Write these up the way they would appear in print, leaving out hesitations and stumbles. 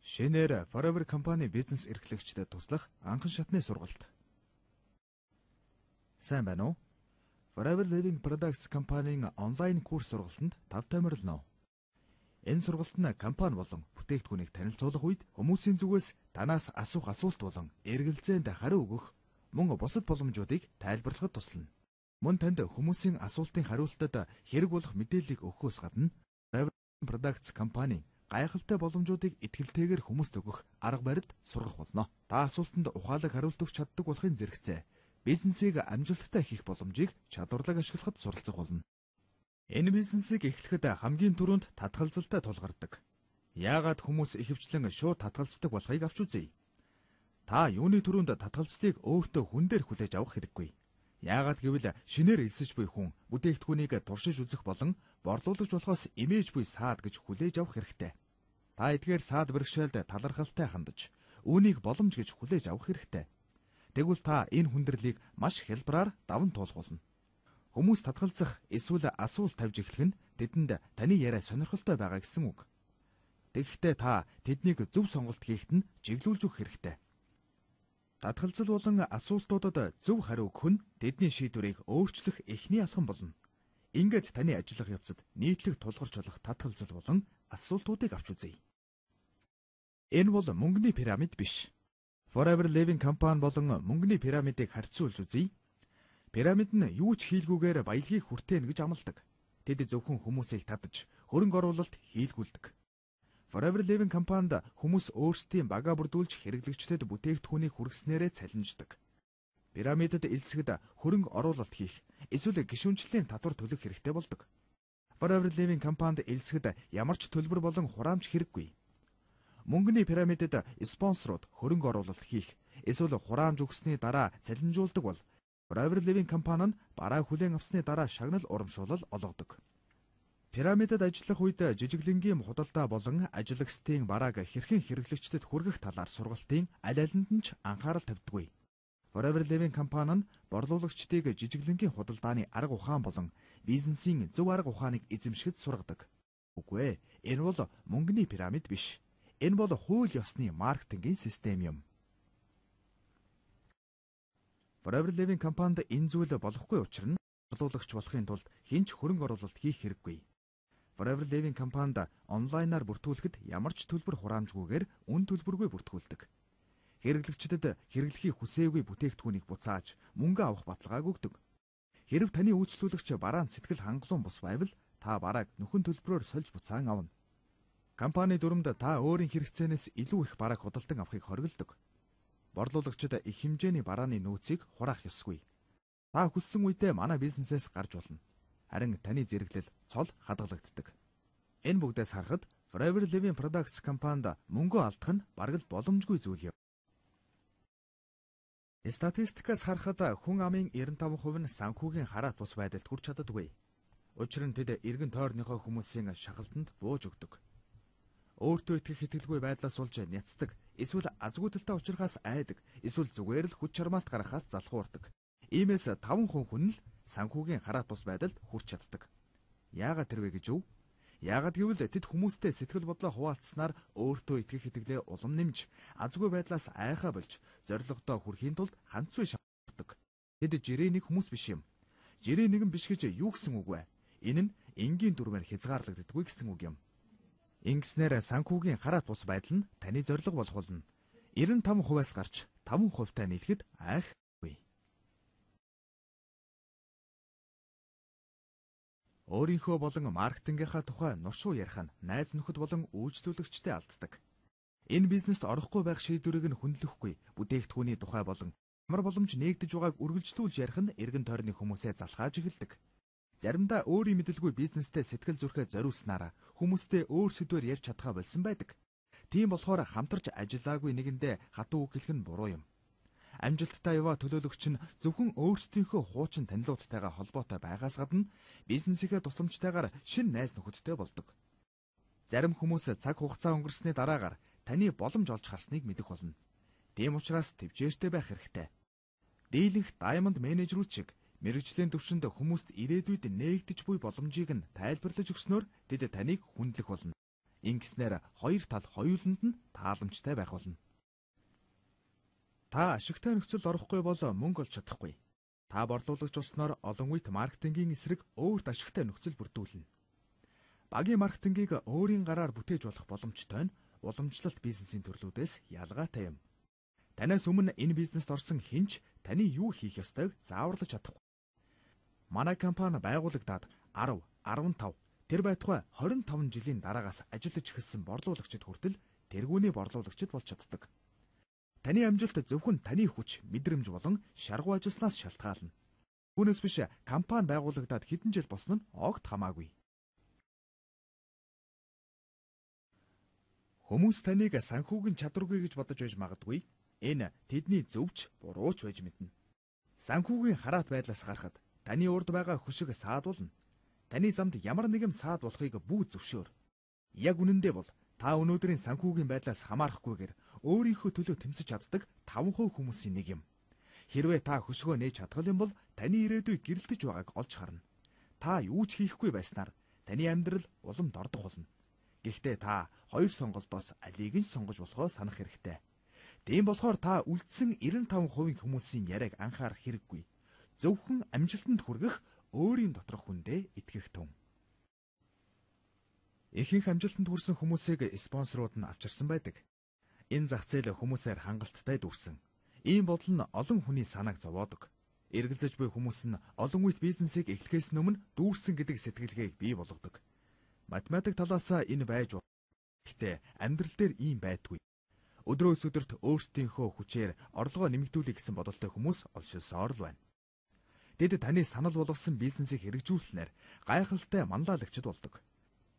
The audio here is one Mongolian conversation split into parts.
Шинээр Forever компани бизнес эрхлэгчдэд туслах анхан шатны сургалт. Сайн байна уу? Forever Living Products компанийн онлайн курс сургалтанд тав томирлно. Энэ сургалт нь компани болон бүтээгдэхүүнийг танилцуулах үед хүмүүсийн зүгээс танаас асуух асуулт болон эргэлзээнд хариу өгөх мөн бусад боломжуудыг тайлбарлахад туслана. Мөн танд хүмүүсийн асуултын хариултад хэрэг болох мэдээллийг өгөхөөс гадна Forever Products компани гайхалтай боломжуудыг итгэлтэйгээр хүмүүст өгөх арга барилд сургах болно. Та асуултанд ухаалаг хариулт өгч чаддаг болохын зэрэгцээ бизнесийг амжилттай хийх боломжийг чадварлаг ашиглахад суралцах болно. Энэ бизнесийг эхлэхэд хамгийн түрүүнд татгалзалтай тулгардаг. Яагаад хүмүүс ихэвчлэн шууд татгалздаг болохыг авч үзье. Та юуны түрүүнд татгалзлыг өөртөө хүн дээр хүлээж авах хэрэггүй. Яагаад гэвэл шинээр элсэж буй хүн бүтээгдэхүүнийг туршиж үзэх болон борлуулагч болохоос имиж буй саад гэж хүлээж авах хэрэгтэй. Та эдгээр саад бэрхшээлд талархалтай хандаж, үүнийг боломж гэж хүлээж авах хэрэгтэй. Тэгвэл та энэ хүндрэлийг маш хялбараар даван туулах болно. Хүмүүс татгалзах эсвэл асуулт тавьж эхлэх нь тэдэнд таны яриа сонирхолтой байгаа гэсэн үг. Тэгэхдээ та тэднийг зөв сонголт хийхэд нь чиглүүлж өгөх хэрэгтэй. Татгалзал болон асуултуудад зөв хариу өгөх нь тэдний шийдвэрийг өөрчлөх эхний алхам болно. Ингээд таны ажиллах явцад нийтлэг тулгарч болох татгалзал болон асуултуудыг авч үзье. Энэ бол мөнгөний пирамид биш. Forever Living компани болон мөнгөний пирамидыг харьцуулж үзье. Пирамид нь юу ч хийлгүүгээр баялагийг хүртээнэ гэж амладаг. Тэд зөвхөн хүмүүсийг татаж, хөрөнгө оруулалт хийлгүүлдэг. Forever Living компанид хүмүүс өөрсдийн багаа бүрдүүлж хэрэглэгчдэд бүтээгдэхүүнийг хүргэснээрээ цалинждаг. Пирамидад элсэхэд хөрөнгө оруулалт хийх, эсвэл гишүүнчлэлийн татвар төлөх хэрэгтэй болдог. Forever Living компанид элсэхэд ямар ч төлбөр болон хураамж хэрэггүй. Мөнгөний пирамидад спонсорууд хөрөнгө оруулалт хийх, эсвэл хураамж өгсөний дараа цалинжуулдаг бол Forever Living компани нь бараа хүлээн авсны дараа шагнал урамшуулал олгодог. Пирамидад ажиллах үед жижиглэнгийн худалдаа болон ажиллагчдын барааг хэрхэн хэрэглэгчдэд хүргэх талаар сургалтын аль алинд нь ч анхаарал тавьдаггүй. Forever Living компани нь борлуулагчдыг жижиглэнгийн худалдааны арга ухаан болон бизнесийн зөв арга ухааныг эзэмшихэд сургадаг. Үгүй ээ, энэ бол мөнгөний пирамид биш. Энэ бол хууль ёсны маркетингийн систем юм. Forever Living компанид энэ зүйл болохгүй учир нь борлуулагч болохын тулд хэн ч хөрөнгө оруулалт хийх хэрэггүй. Forever Living компанид онлайнаар бүртгүүлэхэд ямар ч төлбөр хураамжгүйгээр үн төлбөргүй бүртгүүлдэг. Хэрэглэгчдэд хэрэглэхийг хүсээгүй бүтээгдэхүүнийг буцааж мөнгө авах баталгааг өгдөг. Хэрв таны үйлчлүүлэгч бараанд сэтгэл хангалуун бус байвал та барааг нөхөн төлбөрөөр сольж буцаан авна. Компани дүрмд та өөрийн хэрэгцээнээс илүү их барааг худалдан авахыг хориглодог. Борлуулагчид их хэмжээний барааны нөөцийг хураах ёсгүй. Та хүссэн үедээ манай бизнесээс гарч болно. Харин таны зэрэглэл цол хадгалагддаг. Энэ бүгдээс харахад Forever Living Products компанид мөнгө алдах нь бараг л боломжгүй зүйл юм. Статистикаас харахад хүн амын 95% нь санхүүгийн хараат бус байдалд хүрч чаддаггүй. Учир нь тэд эргэн тойрныхоо хүмүүсийн шахалтанд бууж өгдөг. Өөртөө итгэх итгэлгүй байдлаас болж няцдаг, эсвэл азгүйдэлтэй учрахаас айдаг, эсвэл зүгээр л хүч чармаалт гаргахаас залхуурдаг. Иймээс 5% хүн л санхүүгийн хараат бус байдалд хүрч чаддаг. Яагаад тэрвэ гэж өв? Яагаад гэвэл тэд хүмүүстэй сэтгэл бодлоо хуваалцснаар өөртөө итгэх итгэлээ улам нэмж, азгүй байдлаас айхаа болж, зорилгодоо хүрэхийн тулд ханцгүй шаарддаг. Тэд жирээнийг хүмүүс биш юм. Жирээ нэгэн биш гэж юу гэсэн үг вэ? Энэ нь энгийн дүрмээр хязгаарлагддаггүй гэсэн үг юм. Ингэснээр санхүүгийн хараат бус байдал нь таны зорилго болох болно. 95%-аас гарч 5%-тай нийлэхэд айхгүй. Өөрийнхөө болон маркетингийнхаа тухай нуршуу ярих нь найз нөхөд болон үйлчлүүлэгчтэй алддаг. Энэ бизнест орохгүй байх шийдвэрийг нь хүндлэхгүй, бүтээгдэхүүний тухай болон ямар боломж нээгдэж байгааг үргэлжлүүлж ярих нь эргэн тойрны хүмүүсээ залхааж эхэлдэг. Заримдаа өөрийн мэдлгүй бизнестэй сэтгэл зүрхээ зориулснараа хүмүүстэй өөр сэдвээр ярьж чадхаа болсон байдаг. Тийм болохоор хамтарч ажиллаагүй нэгэндээ хатуу үг хэлэх нь буруу юм. Амжилттай яваа төлөөлөгч нь зөвхөн өөрсдийнхөө хуучин танилуудтайгаа холбоотой байгаас гадна бизнесийнхээ тусламжтайгаар шинэ найз нөхөдтэй болдог. Зарим хүмүүс цаг хугацаа өнгөрсөний дараагаар таны боломж олж харсныг мэдэх болно. Тийм учраас төвчээртэй байх хэрэгтэй. Дийлэнх даймонд менежерүүд шиг мэргэжлийн төвшөнд хүмүүст ирээдүйд нээгдэж буй боломжийг нь тайлбарлаж өгснөөр тэд таныг хүндлэх болно. Ингэснээр хоёр тал хоёуланд нь тааламжтай байх болно. Та ашигтай нөхцөлд орохгүй бол мөнгө олж чадахгүй. Та борлуулагч болсноор олон үед маркетингийн эсрэг өөрт ашигтай нөхцөл бүрдүүлнэ. Багийн маркетингийг өөрийн гараар бүтээж болох боломжтой нь уламжлалт бизнесийн төрлүүдээс ялгаатай юм. Танаас өмнө энэ бизнест орсон хэн ч таны юу хийх ёстойг зааварлаж чадахгүй. Манай компани байгуулагдаад 10, 15, тэр байтугай 25 жилийн дараагаас ажиллаж эхэлсэн борлуулагчид хүртэл тэргүүний борлуулагчид болж чаддаг. Таны амжилт зөвхөн таны хүч, мэдрэмж болон шаргуу ажилласнаас шалтгаална. Үүнээс биш компани байгуулагдаад хэдэн жил болсон нь огт хамаагүй. Хүмүүс таныг санхүүгийн чадваргүй гэж бодож байж магадгүй. Энэ тэдний зөвч бурууч байж мэднэ. Санхүүгийн хараат байдлаас гарахад таны урд байгаа хөшиг саадуулна. Таны замд ямар нэгэн саад болохыг бүү зөвшөөр. Яг үнэндээ бол та өнөөдрийн санхүүгийн байдлаас хамаарахгүйгээр өөрийнхөө төлөө тэмцэж чаддаг 5% хүмүүсийн нэг юм. Хэрвээ та хөшгөө нээж чадгал юм бол таны ирээдүй гэрэлтэж байгааг олж харна. Та юу ч хийхгүй байснаар таны амьдрал улам дордох болно. Гэхдээ та хоёр сонголтоос алийг нь сонгож болохоо санах хэрэгтэй. Тийм болохоор та үлдсэн 95% хүмүүсийн яриаг анхаарах хэрэггүй. Зөвхөн амжилтанд хүргэх өөрийн доторх хүндээ итгэх тун. Ихэнх амжилтанд хүрсэн хүмүүсийг спонсорууд нь авчирсан байдаг. Энэ зах зээл хүмүүсээр хангалттай дүүрсэн. Ийм бодол нь олон хүний санааг зовоодог. Эргэлзэж буй хүмүүс нь олон үед бизнесийг эхлэхээс өмнө дүүрсэн гэдэг сэтгэлгээг бий болгодог. Математик талаас энэ байж болно. Гэхдээ амьдрал дээр ийм байдгүй. Өдрөөс өдөрт өөрсдийнхөө хүчээр орлогоо нэмэгдүүлэх гэсэн бодолтой хүмүүс олшилсоор л байна. Тэд таны санал болгосон бизнесийг хэрэгжүүлснээр гайхалтай манлайлагчд болдог.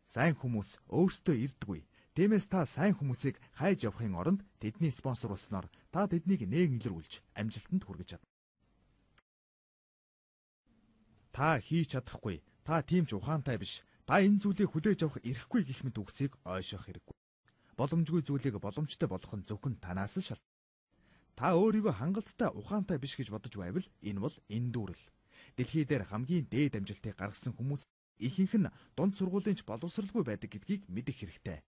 Сайн хүмүүс өөрсдөө ирдэггүй. Тиймээс та сайн хүмүүсийг хайж явахын оронд тэдний спонсор болсноор та тэднийг нээг илрүүлж амжилтанд хүргэж чадна. Та хийж чадахгүй. Та тийм ч ухаантай биш. Та энэ зүйлийг хүлээж авах эрхгүй гэх мэт үгсийг ойшоох хэрэггүй. Боломжгүй зүйлийг боломжтой болгох нь зөвхөн танаас л шалтгаална. Та өөрийгөө хангалттай ухаантай биш гэж бодож байвал энэ бол эндүүрэл. Дэлхий дээр хамгийн дээд амжилтыг гаргасан хүмүүс ихэнх нь дунд сургуулийн ч боловсралгүй байдаг гэдгийг мэдэх хэрэгтэй.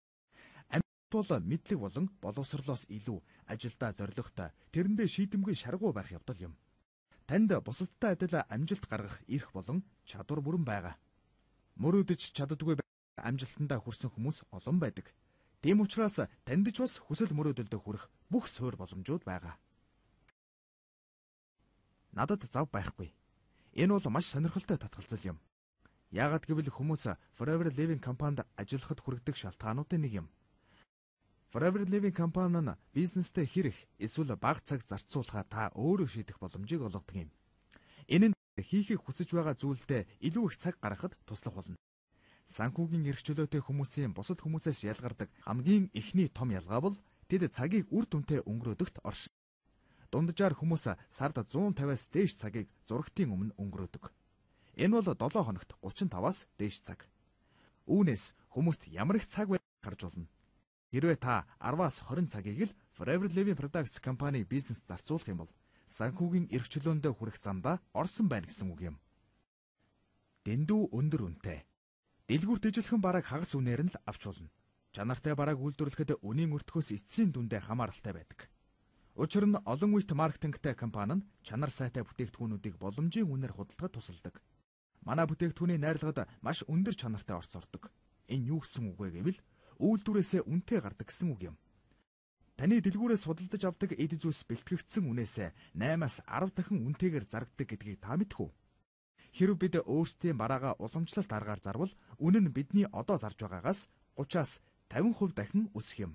Амжилт бол мэдлэг болон боловсролоос илүү ажилдаа зоригтой, тэрэндээ шийдэмгүй шаргуу байх явдал юм. Танд бусадтай адил амжилт гаргах эрх болон чадвар бүрэн байгаа. Мөрөөдөж чаддаггүй амжилтандаа хүрсэн хүмүүс олон байдаг. Тийм учраас танд ч бас хүсэл мөрөөдөлдөө хүрэх бүх суурь боломжууд байгаа. Надад зав байхгүй. Энэ бол маш сонирхолтой татгалзал юм. Яагаад гэвэл хүмүүс Forever Living компанид ажиллахад хүргэдэг шалтгаануудын нэг юм. Forever Living компани нь бизнестэй хэрэг эсвэл бага цаг зарцуулахаа та өөрөө шийдэх боломжийг олгодог юм. Энэ нь хийхийг хүсэж байгаа зүйлдээ илүү их цаг гаргахад туслах болно. Санхүүгийн эрх чөлөөтэй хүмүүсийн бусад хүмүүсээс ялгардаг хамгийн ихний том ялгаа бол тэд цагийг үр дүнтэй өнгөрөөдөгт оршин. Дунджаар хүмүүс сард 150-аас дээш цагийг зурагтын өмнө өнгөрөөдөг. Энэ бол 7 хоногт 35-аас дээш цаг. Үүнээс хүмүүст ямар их цаг байгааг харж болно. Хэрвээ та 10-аас 20 цагийг л Forever Living Products компани бизнес зарцуулах юм бол санхүүгийн эрх чөлөөндөө хүрэх замдаа орсон байна гэсэн үг юм. Дэндүү өндөр үнэтэй. Дэлгүүрт ижилхэн бараг хагас үнээр нь л авч болно. Чанартай бараг үйлдвэрлэхэд үнийн өртгөөс эцсийн дүндээ хамааралтай байдаг. Учир нь олон үйт маркетингтэй компани нь чанар сайтай бүтээгдэхүүнүүдийг боломжийн үнээр худалдахад тусалдаг. Манай бүтээгдэхүүний найрлагад маш өндөр чанартай орц ордог. Энэ юу гэсэн үг вэ гэвэл үйлдвэрээсээ үнэтэй гардаг гэсэн үг юм. Таны дэлгүүрээс худалдаж авдаг эд зүйлс бэлтгэгдсэн үнээсээ 8-аас 10 дахин үнэтэйгээр зарагддаг гэдгийг та мэдэх үү? Хэрэв бид өөрсдийн бараагаа уламжлалт аргаар зарвал үнэ нь бидний одоо зарж байгаагаас 30-аас 50% дахин өсөх юм.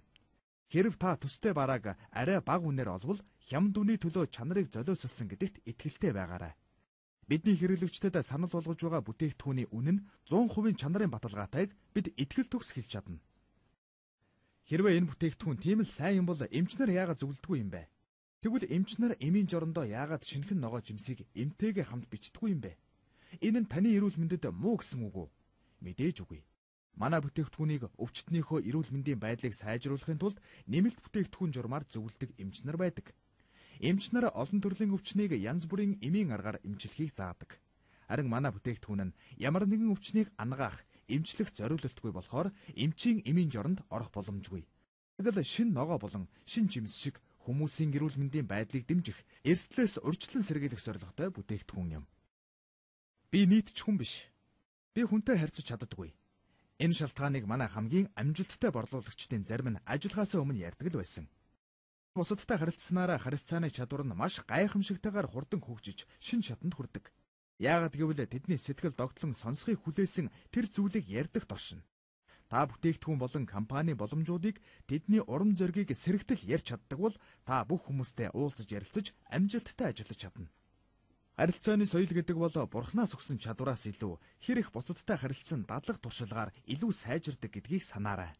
Хэрэв та төстэй барааг арай бага үнээр олвол хямд үний төлөө чанарыг золиосолсон гэдэгт итгэлтэй байгаарай. Бидний хэрэглэгчдэд санал болгож байгаа бүтээгдэхүүний үнэ нь 100% чанарын баталгаатайг бид итгэл төгс хэлж чадна. Хэрвээ энэ бүтээгдэхүүн тийм л сайн юм бол эмчнэр яагаад зөвлөдөггүй юм бэ? Тэгвэл эмчнэр эмийн жорондоо яагаад шинэхэн ногоо жимсийг эмтэйгээ хамт бичдэггүй юм бэ? Энэ нь таны эрүүл мэндэд муу гэсэн үг үү? Мэдээж үгүй. Манай бүтээгдэхүүнийг өвчтнийхөө эрүүл мэндийн байдлыг сайжруулахын тулд нэмэлт бүтээгдэхүүн журмаар зөвлөдөг эмчнэр байдаг. Эмчнэр олон төрлийн өвчнийг янз бүрийн эмийн аргаар эмчлэхийг заадаг. Харин манай бүтээгдэхүүн нь ямар нэгэн өвчнийг ангаах, эмчлэх зориулалтгүй болохоор эмчийн эмийн жоронд орох боломжгүй. Тэгэл шин ногоо болон шин жимс шиг хүмүүсийн эрүүл мэндийн байдлыг дэмжих, эрсдлээс урьдчилан сэргийлэх зорилготой бүтээгдэхүүн юм. Би нийтч хүн биш. Би хүнтэй харьцаж чаддаггүй. Энэ шалтгааныг манай хамгийн амжилттай борлуулагчдын зарим нь ажиллахаасаа өмнө ярьдаг л байсан. Бусадтай харилцсанаараа харилцааны чадвар нь маш гайхамшигтайгаар хурдан хөгжиж, шин шатанд хүрдэг. Яагаад гэвэл тэдний сэтгэл догтлон сонсхийг хүлээсэн тэр зүйлийг ярьдагт оршино. Та бүтээгдэхүүн болон компани боломжуудыг тэдний урам зоригийг сэрэгтэл ярьж чаддаг бол та бүх хүмүүстэй уулзаж ярилцаж амжилттай ажиллаж чадна. Харилцааны соёл гэдэг бол бурхнаас өгсөн чадвараас илүү хэрэг бусадтай харилцсан дадлаг туршилгаар илүү сайжирдаг гэдгийг санаарай.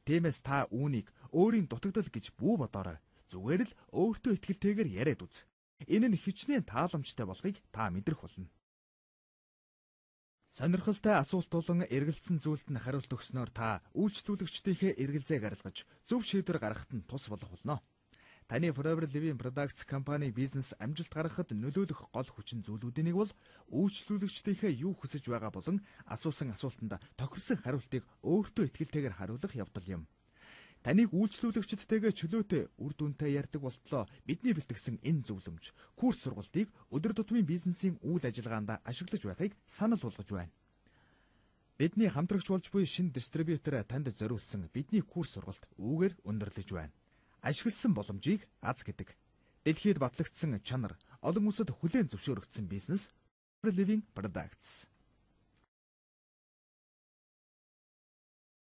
Тиймээс та үүнийг өөрийн дутагдал гэж бүү бодоорой. Зүгээр л өөртөө итгэлтэйгээр яриад үз. Энэ нь хичнээн тааламжтай болохыг та мэдрэх болно. Сонирхолтой асуулт болон эргэлзсэн зүйлд нь хариулт өгснөөр та үйлчлүүлэгчдийнхээ эргэлзээг арилгаж зөв шийдвэр гаргахад нь тус болох болно. Таны Forever Living Products компани бизнес амжилт гаргахад нөлөөлөх гол хүчин зүйлүүдийн нэг бол үйлчлүүлэгчдийнхээ юу хүсэж байгаа болон асуусан асуултанд тохирсон хариултыг өөртөө итгэлтэйгээр хариулах явдал юм. Таныг үйлчлүүлэгчдтэйгээ чөлөөтэй үр дүнтэй ярьдаг болтлоо бидний бэлтгэсэн энэ зөвлөмж, курс сургалтыг өдөр тутмын бизнесийн үйл ажиллагаанд ашиглаж байхыг санал болгож байна. Бидний хамтрагч болж буй шинэ дистрибьютор танд зориулсан бидний курс сургалт үүгээр өндөрлөж байна. Ашигласан боломжийг аз гэдэг. Дэлхийд батлагдсан чанар, олон улсад хүлээн зөвшөөрөгдсөн бизнес Living Products.